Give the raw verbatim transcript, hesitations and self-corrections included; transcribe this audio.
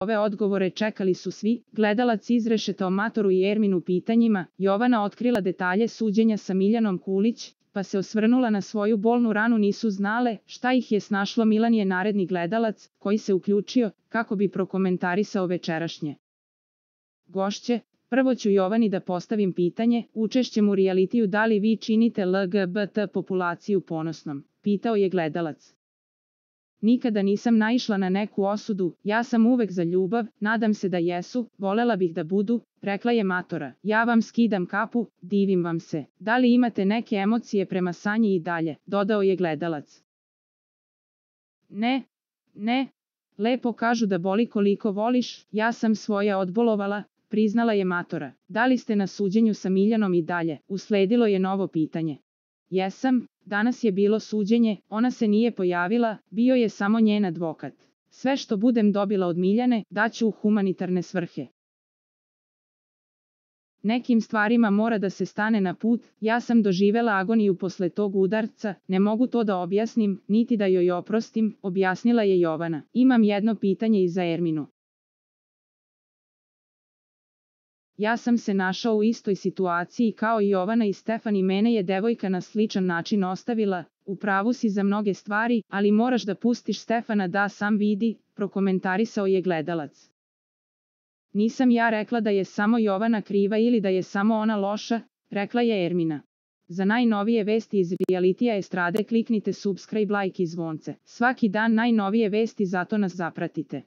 ove odgovore čekali su svi, gledalac izrešetao Matoru i Erminu pitanjima, Jovana otkrila detalje suđenja sa Miljanom Kulić, pa se osvrnula na svoju bolnu ranu, nisu znale šta ih je snašlo. Milan je naredni gledalac, koji se uključio, kako bi prokomentarisao večerašnje gošće. Prvo ću Jovani da postavim pitanje, učešćem u realitiju da li vi činite L G B T populaciju ponosnom, pitao je gledalac. Nikada nisam naišla na neku osudu, ja sam uvek za ljubav, nadam se da jesu, volela bih da budu, rekla je Matora. Ja vam skidam kapu, divim vam se. Da li imate neke emocije prema Sanji i dalje, dodao je gledalac. Ne, ne, lepo kažu da boli koliko voliš, ja sam svoje odbolovala, priznala je Matora. Da li ste na suđenju sa Miljanom i dalje, usledilo je novo pitanje. Jesam, danas je bilo suđenje, ona se nije pojavila, bio je samo njen advokat. Sve što budem dobila od Miljane, daću u humanitarne svrhe. Nekim stvarima mora da se stane na put, ja sam doživela agoniju posle tog udarca, ne mogu to da objasnim, niti da joj oprostim, objasnila je Jovana. Imam jedno pitanje i za Erminu. Ja sam se našao u istoj situaciji kao i Jovana i Stefan i mene je devojka na sličan način ostavila, u pravu si za mnoge stvari, ali moraš da pustiš Stefana da sam vidi, prokomentarisao je gledalac. Nisam ja rekla da je samo Jovana kriva ili da je samo ona loša, rekla je Ermina. Za najnovije vesti iz realitija estrade kliknite subscribe, like i zvonce. Svaki dan najnovije vesti, zato nas zapratite.